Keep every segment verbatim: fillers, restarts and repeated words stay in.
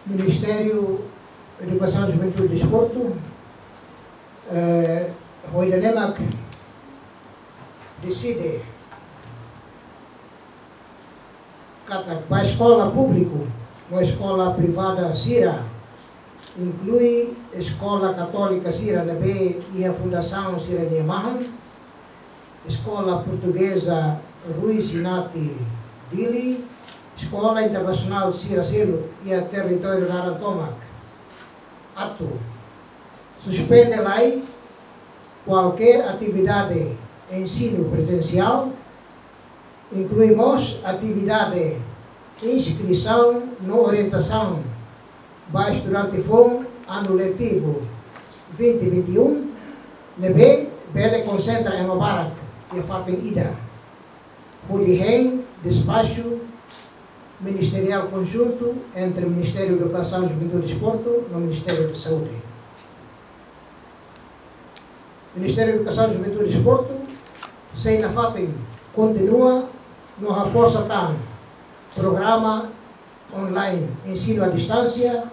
Ministériu Edukasaun, Juventude e Desportu, eh, ho ida-ne'e mak deside katak ba eskola públiku no eskola privada sira, inklui eskola katólika sira ne'ebé iha fundasaun sira-nia mahon, Eskola Portugeza Rui Sinati Dili, eskola internasionál sira seluk iha territóriu laran tomak, atu suspende lai kualkér atividade ensinu prezensiál, inklui mós atividade inskrisaun no orientasaun ba estudante foun anu letivu vinte vinte e um, ne'ebé bele konsentra ema barak iha fatin ida, hodi hein despaxu ministeriál konjuntu entre Ministériu Edukasaun, Juventude e Desportu no Ministériu Saúde. Ministériu Edukasaun, Juventude e Desportu sei nafatin kontinua no haforsa tan programa online ensinu à distánsia,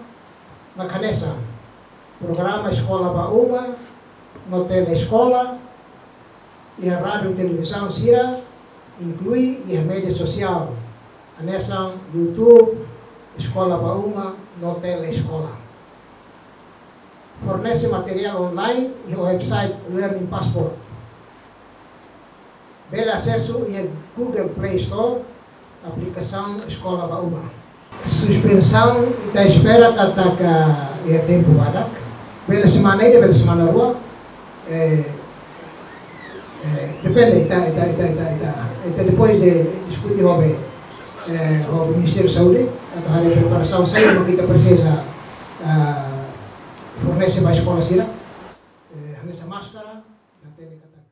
mak hanesan programa Eskola ba Uma no Tele Eskola, iha rádiu, televizaun sira, inklui iha média sosiál, hanesan YouTube, Eskola ba Uma no Tele Eskola. Fornese materiál online iha website Learning Passport. Bele asesu iha Google Play Store, aplikasaun Eskola ba Uma. Suspensaun ita espera katak iha tempu badak. Bele semana ida, bele semana rua. Eh, eh, depende, ita, ita, ita, ita, ita, ita depois de diskute ho be, eh, ho Ministériu Saúde, atu haree preparasaun saida mak ita presiza, ah, fornese ba eskola sira. Eh, hanesan máskara, ita hatene katak